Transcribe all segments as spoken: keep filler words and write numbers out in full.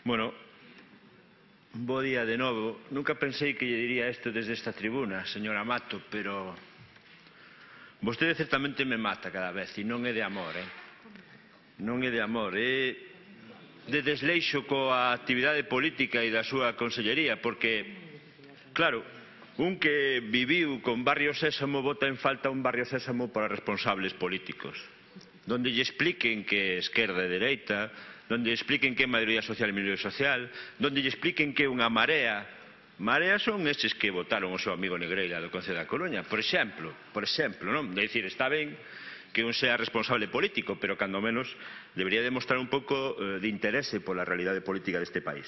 Bueno, bo día de novo. Nunca pensei que lle diría isto desde esta tribuna, señora Mato, pero vostede certamente me mata cada vez, e non é de amor, eh? Non é de amor, é de desleixo coa actividade política e da súa consellería, porque, claro, un que viviu con Barrio Sésamo vota en falta un Barrio Sésamo para responsables políticos, donde lle expliquen que é esquerda e dereita, donde lle expliquen que é maioría social e minoría social, donde lle expliquen que é unha marea. Marea son estes que votaron o seu amigo Negreira do Concello da Coruña, por exemplo, por exemplo, non? De dicir, está ben que un sea responsable político, pero cando menos debería demostrar un pouco de interese pola realidade política deste país.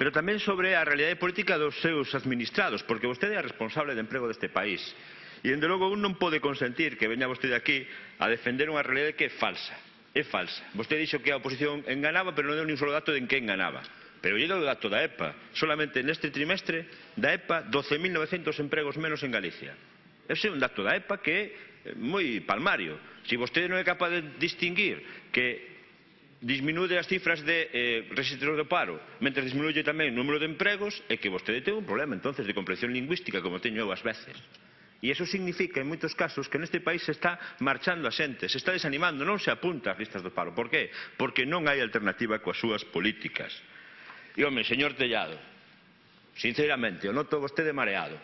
Pero tamén sobre a realidade política dos seus administrados, porque vostede é responsable de emprego deste país. E, dende logo, un non pode consentir que veña vostede aquí a defender unha realidade que é falsa. É falsa. Vostede dixo que a oposición enganaba, pero non deu nin solo dato de en que enganaba. Pero lle dou o dato da E P A. Solamente neste trimestre da E P A, doce mil novecientos empregos menos en Galicia. Ese é un dato da E P A que é moi palmario. Se vostede non é capaz de distinguir que disminuye as cifras de eh, rexistros do paro, mentre disminuye tamén o número de empregos, é que vostede ten un problema, entonces, de comprensión lingüística, como teño eu ás veces. E iso significa, en moitos casos, que neste país se está marchando a xente, se está desanimando, non se apunta ás listas do paro. Por qué? Porque non hai alternativa coas súas políticas. E, home, señor Tellado, sinceramente, o noto vostede mareado.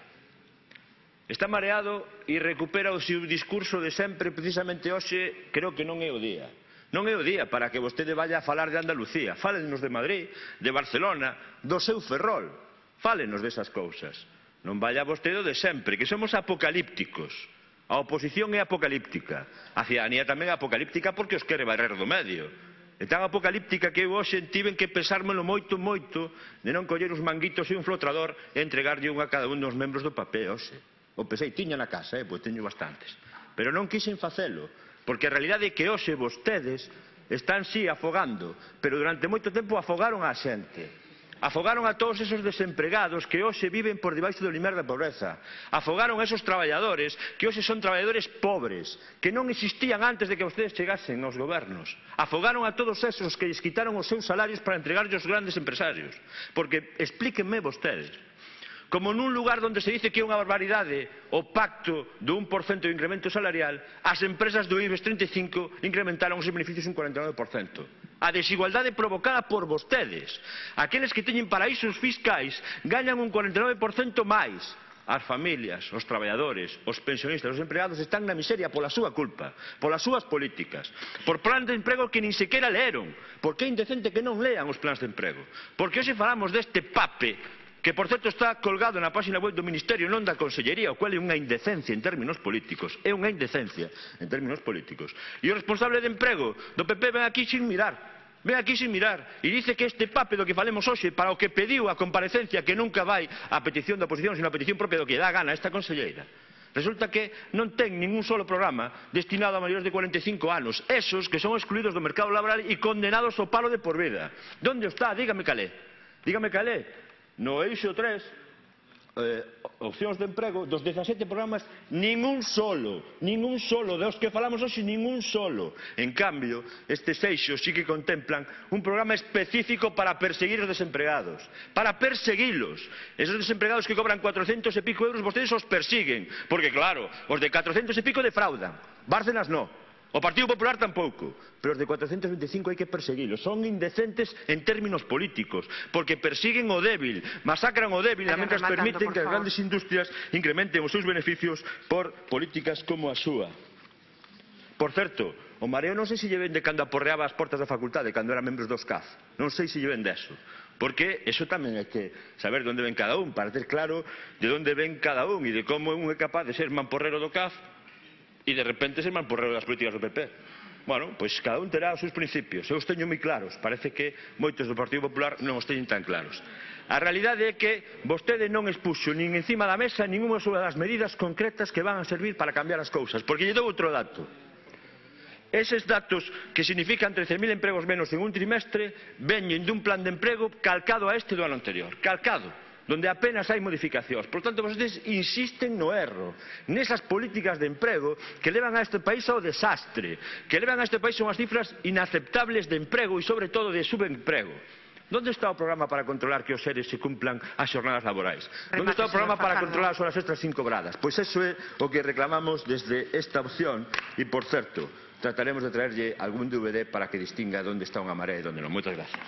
Está mareado e recupera o seu discurso de sempre, precisamente hoxe, creo que non é o día. Non é o día para que vostede vaya a falar de Andalucía. Fálenos de Madrid, de Barcelona, do seu Ferrol. Fálenos desas cousas. Non vaya vostede de sempre, que somos apocalípticos. A oposición é apocalíptica. A cidadanía tamén é apocalíptica porque os quere barrer do medio. É tan apocalíptica que eu hoxe tiven que pesármelo moito, moito, de non coller os manguitos e un flotrador e entregarlle un a cada un dos membros do papel hoxe. O pesei, tiña na casa, eh, pois teño bastantes. Pero non quixen facelo, porque a realidade é que hoxe vostedes están sí afogando, pero durante moito tempo afogaron a xente. Afogaron a todos esos desempregados que hoxe viven por debaixo do limiar da pobreza. Afogaron a esos traballadores que hoxe son traballadores pobres, que non existían antes de que vostedes chegasen aos gobernos. Afogaron a todos esos que lles quitaron os seus salarios para entregarlos aos grandes empresarios. Porque, explíquenme vostedes, como nun lugar onde se dice que é unha barbaridade o pacto do un por cento de incremento salarial, as empresas do IBEX treinta e cinco incrementaron os seus beneficios un cuarenta e nove por cento. A desigualdade provocada por vostedes. Aqueles que teñen paraísos fiscais gañan un cuarenta e nove por cento máis. As familias, os traballadores, os pensionistas, os empregados están na miseria pola súa culpa, polas súas políticas, por plans de emprego que nin sequera leeron, porque é indecente que non lean os plans de emprego. Porque hoxe falamos deste pape, que por certo está colgado na página web do Ministerio, non da Consellería, o cual é unha indecencia en términos políticos, é unha indecencia en términos políticos. E o responsable de emprego do P P ven aquí sin mirar, ven aquí sin mirar, e dice que este pape do que falemos hoxe, para o que pediu a comparecencia, que nunca vai a petición da oposición, sino a petición propia do que dá gana a esta conselleira, resulta que non ten ningún solo programa destinado a maiores de cuarenta e cinco anos, esos que son excluídos do mercado laboral e condenados ao paro de por vida. Donde está? Dígame calé. Dígame calé. No eixo tres, eh, opcións de emprego, dos dezasete programas, ningún solo, ningún solo, dos que falamos hoxe, ningún solo. En cambio, estes eixos sí que contemplan un programa específico para perseguir os desempregados, para perseguilos. Esos desempregados que cobran cuatrocentos e pico euros, vostedes os persiguen, porque claro, os de catrocentos e pico defraudan, Bárcenas no. O Partido Popular tampouco, pero os de cuatrocentos e vinte e cinco hai que perseguilos. Son indecentes en términos políticos, porque persiguen o débil, masacran o débil, e mentras permiten que as grandes industrias incrementen os seus beneficios por políticas como a súa. Por certo, o mareo non sei se lle ven de cando aporreaba as portas da facultade, cando eran membros dos C A F. Non sei se lle ven deso. Porque eso tamén hai que saber de onde ven cada un, para ter claro de onde ven cada un e de como un é capaz de ser mamporrero do C A F e de repente ser mamporrero das políticas do P P. Bueno, pois cada un terá os seus principios. Eu os teño moi claros. Parece que moitos do Partido Popular non os teñen tan claros. A realidade é que vostede non expuxo nin encima da mesa ninguna das medidas concretas que van a servir para cambiar as cousas. Porque lle dou outro dato. Eses datos que significan trece mil empregos menos en un trimestre veñen dun plan de emprego calcado a este do ano anterior. Calcado. Donde apenas hai modificacións. Por tanto, vostedes insisten no erro, nesas políticas de emprego que levan a este país ao desastre, que levan a este país a unhas cifras inaceptables de emprego e, sobre todo, de subemprego. Onde está o programa para controlar que os seres se cumplan as xornadas laborais? Onde está o programa para controlar as horas extras sin cobradas? Pois eso é o que reclamamos desde esta opción e, por certo, trataremos de traerlle algún D V D para que distinga onde está unha marea e onde non. Moitas gracias.